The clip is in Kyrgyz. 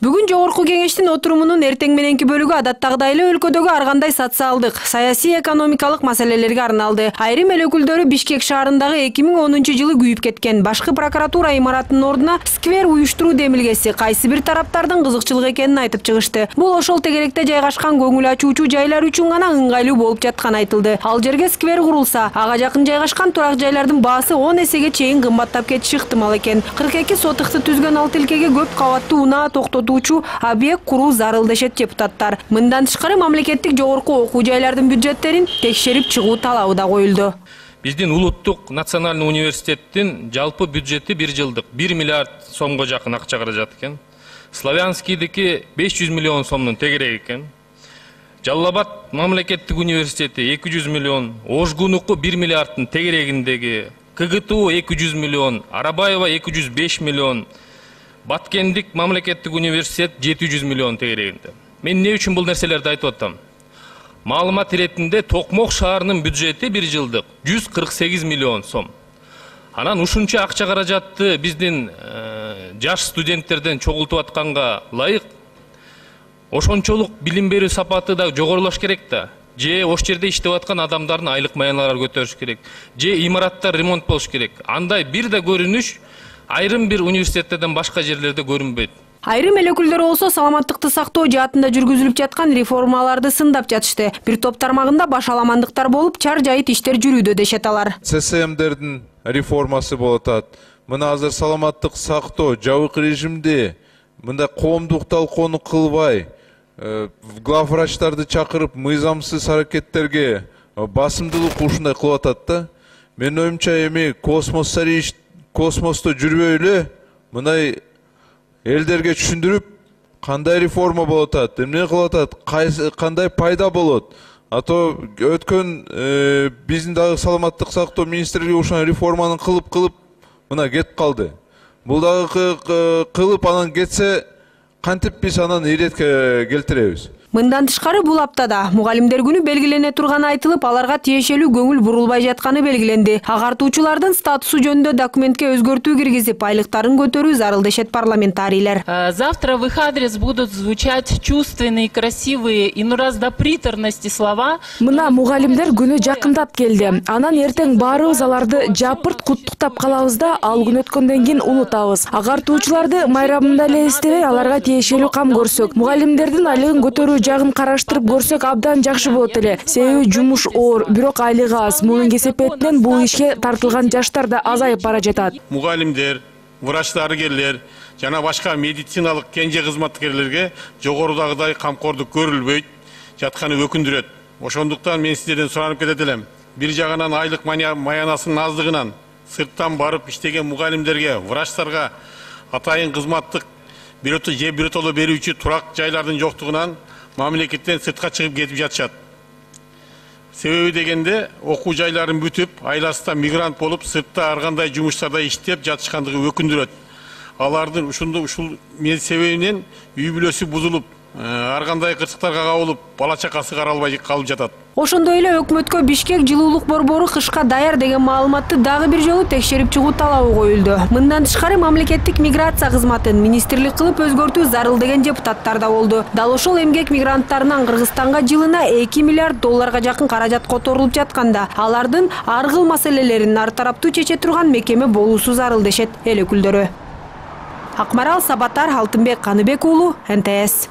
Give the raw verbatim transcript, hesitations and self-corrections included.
Бүгүн жогорку кеңештин отурумунун эртең мененки бөлүгү адаттагыдай эле өлкөдөгү ар кандай социалдык, саясий, экономикалык маселелерге арналды. Айрым эл өкүлдөрү Бишкек шаарындагы эки миң онунчу жылы күйүп кеткен башкы прокуратура имаратынын ордуна сквер уюштуруу демилгеси кайсы бир тараптардын кызыкчылык экенин айтып чыгышты. Бул ошол тегеректе жайгашкан көңүл ачуучу жайлар үчүн гана ыңгайлуу болуп жатканы айтылды. Ал жерге сквер курулса, ага жакын жайгашкан турак жайлардын баасы он эсеге чейин кымбаттап кетиши ыктымал экен. кырк эки сотыкты түзгөн ал тилкеге көп кабаттуу унаа токтотуучу объект куруу зарыл дешет депутаттар. Мындан тышкары мамлекеттик жогорку окуу жайлардын бюджеттерин текшерип чыгуу талабы да коюлду. Биздин улуттук национальный университеттин жалпы бюджети бир жылдык бир миллиард сомго жакын акча каражат экен. Славянскийдики беш жүз миллион сомдун тегерек экен. Жалал Абад мамлекеттик университети эки жүз миллион, Ошгунуку бир миллиарддын тегерегиндеги, КГТУ эки жүз миллион, Арабаева эки жүз беш миллион, Баткендик мамлекеттик университет жети жүз миллион тегерегинде. Мен эмне үчүн бул нерселерди айтып атам? Маалымат иретинде Токмок шаарынын бюджети бир жылдык жүз кырк сегиз миллион сом. Анан ушунча акча каражатты биздин жаш студенттерден чогултуп атканга ылайык ошончолук билим берүү сапаты да жогорулаш керек да. Же ош жерде иштеп аткан адамдардын айлык маяналары көтөрүш керек. Же имараттар ремонт болуш керек. Андай бир да көрүнүш айрым бир университеттерден башка жерлерде көрүнбөйт. Айрым эл өкүлдөрү болсо саламаттыкты сактоо жаатында жүргүзүлүп жаткан реформаларды сындап жатышты. Бир топ тармагында башаламандыктар болуп, чар жайыт иштер жүрүүдө дешет алар. ЦСМдердин реформасы болуп атат. Мына азыр саламаттык сактоо жабык режимде мындай коомдук талкууну кылбай, главврачтарды чакырып мыйзамсыз аракеттерге басымдуулук ушундай кылып атат да. Менин оюмча эми космос космосто жүрбөй эле мындай элдерге түшүндүрүп, кандай реформа болуп атат, эмне кылып атат, кандай пайда болот. А то өткөн биздин дагы саламаттык сактоо министрлиги ушул реформаны кылып кылып мына кетип калды. Бул дагы кылып анан кетсе, кантип биз анан иретке келтиребиз? Мындан тышкары бул аптада мугалимдер күнү белгилене турганы айтылып, аларга тиешелүү көңүл бурулбай жатканы белгиленди. Агартуучулардын статусу жөнүндө документке өзгөртүү киргизип, айлыктарын көтөрүү зарыл дешет парламентарийлер. Завтра в их адрес будут звучать чувственные, красивые и ну раз до приторности слова. Мына мугалимдер күнү жакындап келди. Анан эртең баарыбыз аларды жапырт куттуктап калабыз да, ал күн өткөндөн кийин унутабыз. Агартуучуларды майрамында эле эстебей, аларга тиешелүү кам көрсөк, мугалимдердин айлыгын көтөрүү жагын караштырып көрсөк абдан жакшы болот эле. Себеби жумуш оор, бирок айлыгы аз. Мунун кесепетинен бул ишке тартылган жаштар да азайып бара жатат. Мугалимдер, врач дарыгерлер жана башка медициналык кенже кызматкерлерге жогорудагыдай камкордук көрүлбөйт жатканы өкүндүрөт. Ошондуктан мен сиздерден суранып кетет элем. Бир жагынан айлык маянасынын аздыгынан сырттан барып иштеген мугалимдерге, врачтарга атайын кызматтык бирөтө же бирөтөлө берүүчү турак жайлардын жоктугунан мамлекеттен сыртка чыгып кетип жатышат. Себеби дегенде окуу жайларын бүтүп, айласында мигрант болуп, сыртта ар кандай жумуштарда иштеп жатышкандыгы өкүндүрөт. Алардын ушунда ушул себебинен үй бүлөсү бузулуп, ар кандай кырсыктарга кабылып, бала чакасы каралбай калып жатат. Ошондой эле өкмөткө Бишкек жылуулук борбору кышка даяр деген маалыматты дагы бир жолу текшерип чыгуу талабы коюлду. Мындан тышкары мамлекеттик миграция кызматын министрлик кылып өзгөртүү зарыл деген депутаттар да болду. Дал ошол эмгек мигранттарынан Кыргызстанга жылына эки миллиард долларга жакын каражат которулуп жатканда, алардын ар кыл маселелерин ар тараптуу чече турган мекеме болуусу зарыл дешет эл өкүлдөрү. Акмарал Сабатар, Алтынбек Каныбек уулу, эн тэ эс.